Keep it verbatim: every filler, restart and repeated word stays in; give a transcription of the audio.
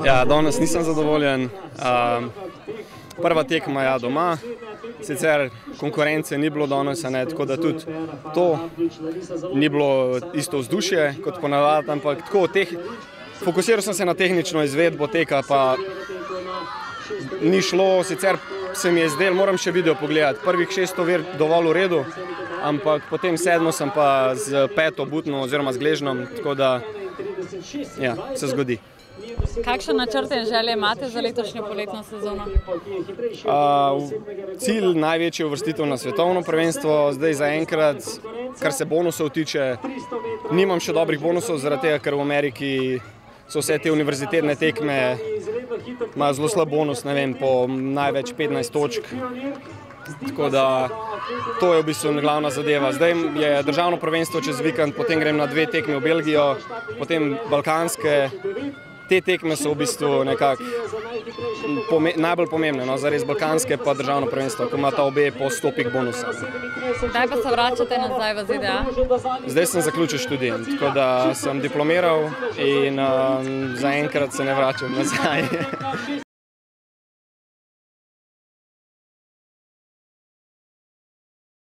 Ja, danes nisem zadovoljen. Prva tekma je doma, sicer konkurence ni bilo danes, tako da tudi to ni bilo isto vzdušje kot ponavadi, ampak tako fokusiral sem se na tehnično izvedbo teka, pa ni šlo, sicer se mi je zdelo, moram še video pogledati, prvih šest ovir dovolj v redu, ampak potem sedmo sem pa z peto butno oziroma z gležnom, tako da ja, se zgodi. Kakšne načrte in želje imate za letošnjo poletno sezono? Cilj največji je uvrstitev na svetovno prvenstvo, zdaj zaenkrat, kar se bonusov tiče, nimam še dobrih bonusov, zaradi tega, ker v Ameriki so vse te univerzitetne tekme, imajo zelo slab bonus, ne vem, po največ petnajst točk. Tako da to je v bistvu glavna zadeva. Zdaj je državno prvenstvo čez vikend, potem grem na dve tekmi v Belgijo, potem balkanske. Te tekme so v bistvu nekako najbolj pomembne, no, zares balkanske pa državno prvenstvo, ko imata obe po sto pik bonusa. Kdaj pa se vračate nazaj v Z D A? Zdaj sem zaključil študij, tako da sem diplomiral in zaenkrat se ne vračam nazaj.